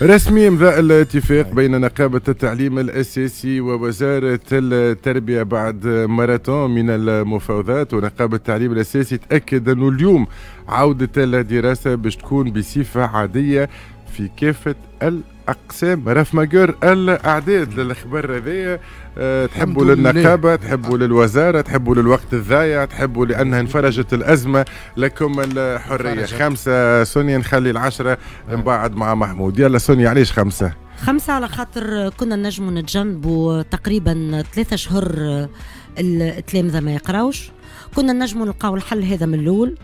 رسمي امضاء الاتفاق بين نقابة التعليم الأساسي ووزارة التربية بعد ماراثون من المفاوضات. ونقابة التعليم الأساسي تأكد أنه اليوم عودة الدراسة باش تكون بصفة عادية في كافة الأقسام. رف ماجور الأعداد للأخبار هذيا، تحبوا للنقابة، تحبوا للوزارة، تحبوا للوقت الضايع، تحبوا لأنها انفرجت الأزمة، لكم الحرية. 5 سونيا، نخلي 10 من بعد مع محمود. يلا سونيا، علاش 5؟ 5 على خاطر كنا نجموا نتجنبوا تقريبا 3 شهور التلامذة ما يقراوش، كنا نجموا نلقاو الحل هذا من الأول.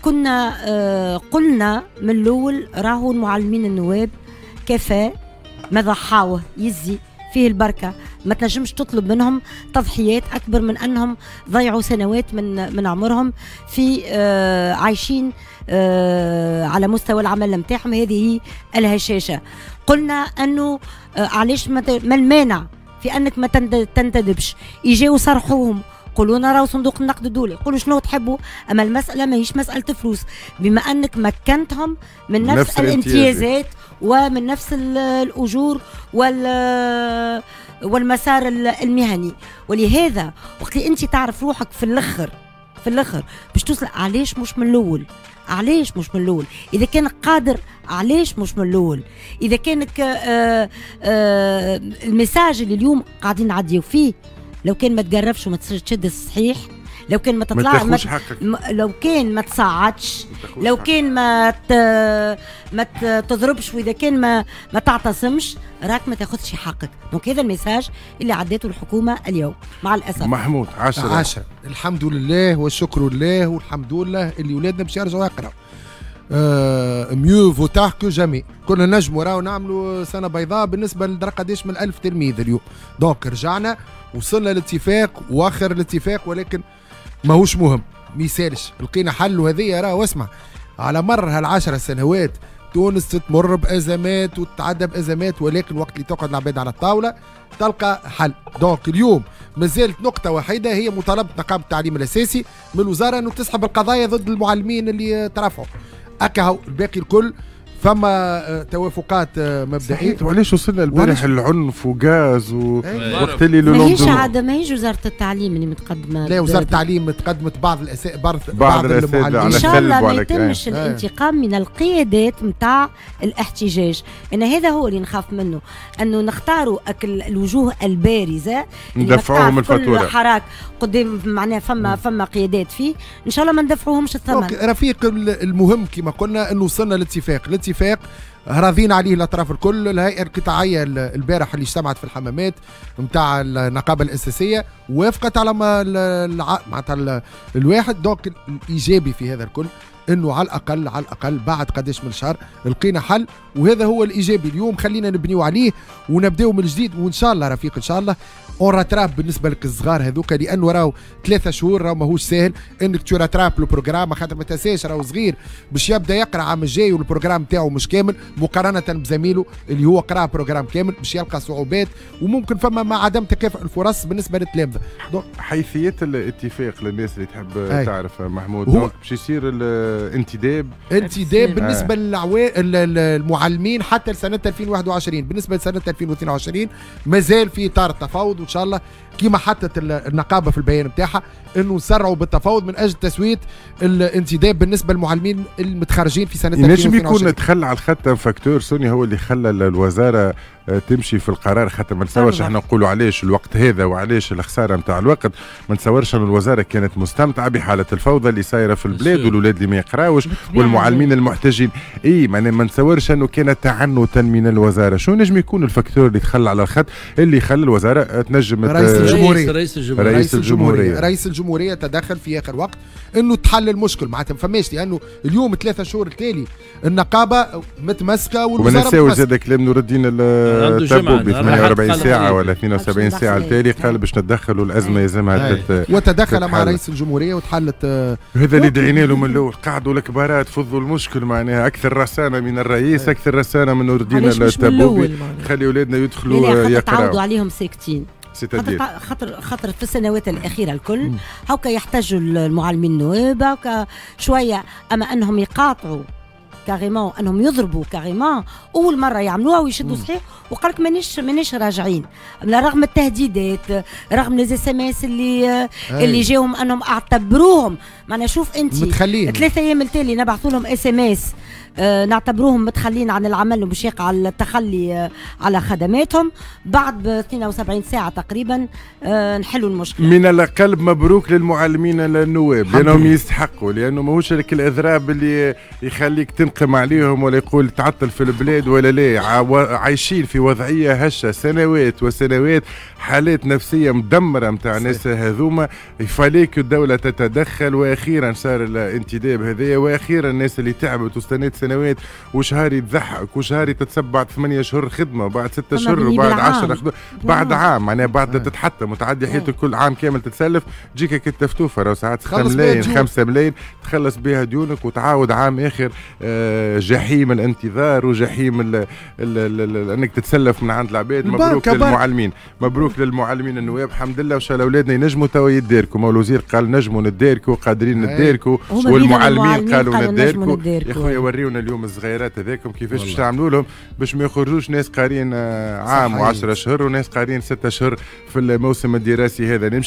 كنا قلنا من الأول راهو المعلمين النواب كفى ما ضحاوه يزي فيه البركة، ما تنجمش تطلب منهم تضحيات أكبر من أنهم ضيعوا سنوات من عمرهم في عايشين على مستوى العمل نتاعهم. هذه هي الهشاشة. قلنا أنه علاش ما المانع في أنك ما تنتدبش، يجيو صرحوهم قولوا راهو صندوق النقد الدولي، قولوا شنو تحبوا، اما المسالة ماهيش مسالة فلوس، بما انك مكنتهم من نفس الامتيازات ومن نفس الاجور والمسار المهني. ولهذا وقت اللي انت تعرف روحك في الاخر باش توصل، علاش مش من الاول؟ علاش مش من الاول؟ اذا كان قادر علاش مش من الاول؟ اذا كانك ال message اللي اليوم قاعدين نعديو فيه، لو كان ما تقربش وما تشد الصحيح، لو كان ما تطلع، لو كان ما تصعدش، لو كان ما تضربش، واذا كان ما تعتصمش، راك ما تاخذش حقك. donc هذا ال message اللي عدته الحكومة اليوم مع الاسف. محمود 10. الحمد لله والشكر لله والحمد لله اللي ولادنا باش يرجعوا يقراوا. mieux vaut tard que jamais. كنا نجموا راهو نعملوا سنة بيضاء بالنسبة لدرا قداش من 1000 تلميذ اليوم. donc رجعنا وصلنا لاتفاق واخر الاتفاق، ولكن ماهوش مهم، ما يسالش، لقينا حل. وهذه راهو اسمع، على مر هال10 سنوات تونس تمر بازمات وتتعدى بازمات، ولكن وقت اللي تقعد العباد على الطاولة تلقى حل. donc اليوم مازالت نقطة وحيده هي مطالبه نقابة التعليم الاساسي من الوزارة انه تسحب القضايا ضد المعلمين اللي ترفعوا. اكاهو الباقي الكل فما توافقات مبدئية. وعلاش وصلنا البارح العنف وغاز وقت اللي ماهيش عادة، ماهيش وزارة التعليم اللي متقدمة. لا، وزارة التعليم تقدمت بعض بعض المعلمين. ان شاء الله ما يتمش الانتقام من القيادات نتاع الاحتجاج، ان هذا هو اللي نخاف منه، انه نختاروا الوجوه البارزة ندفعوهم الفاتورة. حراك قدام معناها فما قيادات فيه، ان شاء الله ما ندفعوهمش الثمن. رفيق، المهم كما قلنا انه وصلنا لاتفاق، الاتفاق راضين عليه الاطراف الكل. الهيئة القطاعيه البارح اللي اجتمعت في الحمامات نتاع النقابة الاساسية وافقت على ما معناتها الواحد. donc الايجابي في هذا الكل انه على الاقل على الاقل بعد قداش من شهر لقينا حل، وهذا هو الايجابي اليوم. خلينا نبنيو عليه ونبداو من جديد، وان شاء الله رفيق ان شاء الله on rattrape بالنسبة لك الصغار هذوك، لانه راهو 3 شهور راهو ماهوش ساهل انك tu rattrapes le programme، خاطر ما تنساش راهو صغير باش يبدا يقرا عام الجاي وال programme تاعو مش كامل مقارنة بزميله اللي هو قرا programme كامل، باش يلقى صعوبات وممكن فما مع عدم تكافؤ الفرص بالنسبة للتلامذه. حيثية الاتفاق للناس اللي تحب تعرف محمود، باش يصير الانتداب انتداب بالنسبة للمعلمين حتى لسنه 2021، بالنسبة لسنه 2022 مازال في اطار التفاوض، وان شاء الله كما حطت النقابة في البيان نتاعها انه نسرعوا بالتفاوض من اجل تسويه الانتداب بالنسبة للمعلمين المتخرجين في سنة 2022. ينجم يكون تخلى على الخط facteur سوني هو اللي خلى الوزارة تمشي في القرار، خاطر ما نتصورش احنا نقولوا علاش الوقت هذا وعلاش الخسارة نتاع الوقت، ما نتصورش ان الوزارة كانت مستمتعه بحاله الفوضى اللي صايرة في البلاد والولاد اللي ما يقراوش والمعلمين المحتجين. اي ما نتصورش انه كان تعنتا من الوزارة. شو نجم يكون ال facteur اللي تخلى على الخط اللي خلى الوزارة تنجم؟ رئيس الجمهورية تدخل في اخر وقت انه تحل المشكل، معناتها ما فماش، لانه اليوم 3 شهور التالي النقابة متمسكة والوزارة متمسكة. وما نساوش زاد كلام نور الدين التبوبي 48 ساعة ولا 72 ساعة التالي قال باش نتدخلوا الازمة يلزمها وتدخل مع رئيس الجمهورية وتحلت. هذا اللي دعينا له من الاول، قعدوا الكبارات فضوا المشكل، معناها اكثر رسانه من الرئيس، اكثر رسانه من نور الدين التبوبي، خلي اولادنا يدخلوا يقراوا. تعودوا عليهم ساكتين، خاطر في السنوات الاخيرة الكل هاكا يحتاجوا المعلمين النواب هاكا شوية، اما انهم يقاطعوا carrément، انهم يضربوا carrément، اول مرة يعملوها ويشدوا صحيح، وقال لك مانيش راجعين رغم التهديدات، رغم les SMS اللي جاهم انهم اعتبروهم، معناها شوف انت متخلين. 3 ايام التالي نبعثوا لهم SMS، نعتبروهم متخلين عن العمل ومش يقع التخلي على خدماتهم. بعد ب 72 ساعة تقريبا نحلوا المشكله. من القلب مبروك للمعلمين النواب، لانهم يستحقوا، لانه ماهوش لك الاضراب اللي يخليك تنقم عليهم ولا يقول تعطل في البلاد ولا لا. عايشين في وضعية هشه سنوات وسنوات، حالات نفسية مدمرة نتاع الناس هذوما. il fallait que الدولة تتدخل، واخيرا صار الانتداب هذايا، واخيرا الناس اللي تعبت واستنت سنوات وشهاري تضحك وشهاري تتسب بعد 8 شهور خدمه، وبعد 6 شهور، وبعد 10، بعد عام، معناها بعد تتحطم وتعدي حياتك كل عام كامل تتسلف، تجيك التفتوفه راهو ساعات 6 ملايين، 5 ملايين، تخلص بها ديونك وتعاود عام اخر جحيم الانتظار وجحيم ال ال ال انك تتسلف من عند العباد. مبروك للمعلمين، مبروك للمعلمين النواب، الحمد لله، وان شاء الله اولادنا ينجموا توا يداركوا. الوزير قال نجموا نداركوا، قادرين نداركوا، والمعلمين قالوا نداركوا. يا خويا وريونا اليوم الصغيرات هذاكم كيفاش باش تعملوا لهم باش ما يخرجوش ناس قارين عام و10 اشهر وناس قارين 6 اشهر في الموسم الدراسي هذا. نمشي.